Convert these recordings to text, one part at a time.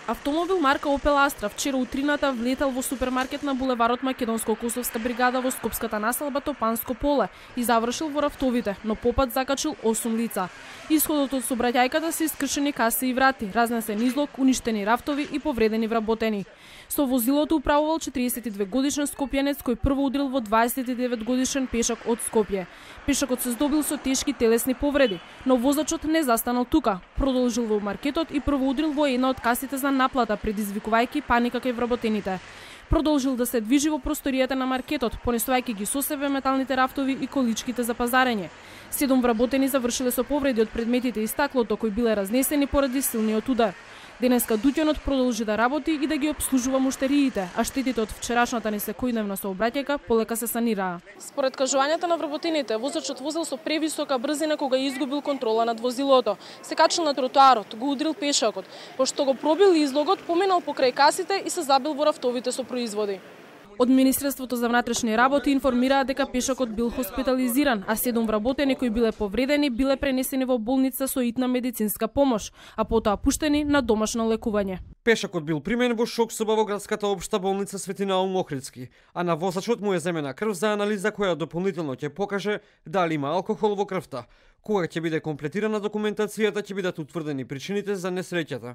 Автомобил марка Opel Astra вчера утрината влетел во супермаркет на булеварот Македонско-Косовска бригада во Скопската населба Топанско поле и завршил во рафтовите, но попат закачил 8 лица. Исходот од сообраќајката се искршени каси и врати, разнесен излог, уништени рафтови и повредени вработени. Со возилото управувал 42 годишен скопјанец кој прво удрил во 29 годишен пешак од Скопје. Пешакот се здобил со тешки телесни повреди, но возачот не застанал тука. Продолжил во маркетот и прво удрил во една од касите за наплата, предизвикувајќи паника кај вработените. Продолжил да се движи во просторијата на маркетот, понесувајќи ги со себе металните рафтови и количките за пазарење. 7 вработени завршиле со повреди од предметите и стаклото кои биле разнесени поради силниот удар. Денеска дуќанот продолжи да работи и да ги обслужува муштериите, а штетите од вчерашната несекојдневна сообраќајка полека се санираа. Според кажувањата на вработените, возачот возел со превисока брзина кога изгубил контрола над возилото. Се качил на тротоарот, го удрил пешакот, пошто го пробил излогот, поминал покрај касите и се забил во рафтовите со производи. Од Министерството за внатрешни работи информираа дека пешакот бил хоспитализиран, а 7 вработени кои биле повредени биле пренесени во болница со итна медицинска помош, а потоа пуштени на домашно лекување. Пешакот бил примен во шок соба во градската општа болница Свети Наум Охридски, а на возачот му е земена крв за анализа која дополнително ќе покаже дали има алкохол во крвта. Кога ќе биде комплетирана документацијата, ќе бидат утврдени причините за несреќата.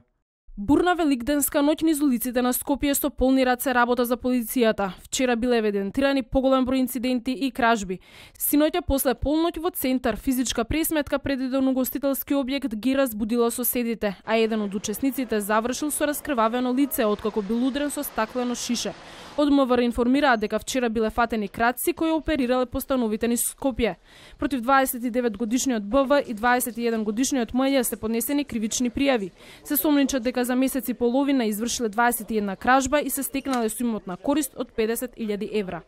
Бурна великденска ноќ низ улиците на Скопје со полни раце работа за полицијата. Вчера биле евидентирани поголем број инциденти и кражби. Синоќа после полноќ во центар физичка пресметка пред еден угостителски објект ги разбудила соседите, а еден од учесниците завршил со раскрвавено лице откако бил удрен со стаклено шише. Од МВР информираат дека вчера биле фатени крадци кои оперирале по становите низ Скопје. Против 29 годишниот БВ и 21 годишниот МЈ се поднесени кривични пријави. Се сомничат дека за месец и половина извршиле 21 кражба и се стекнале со имотна корист од 50.000 евра.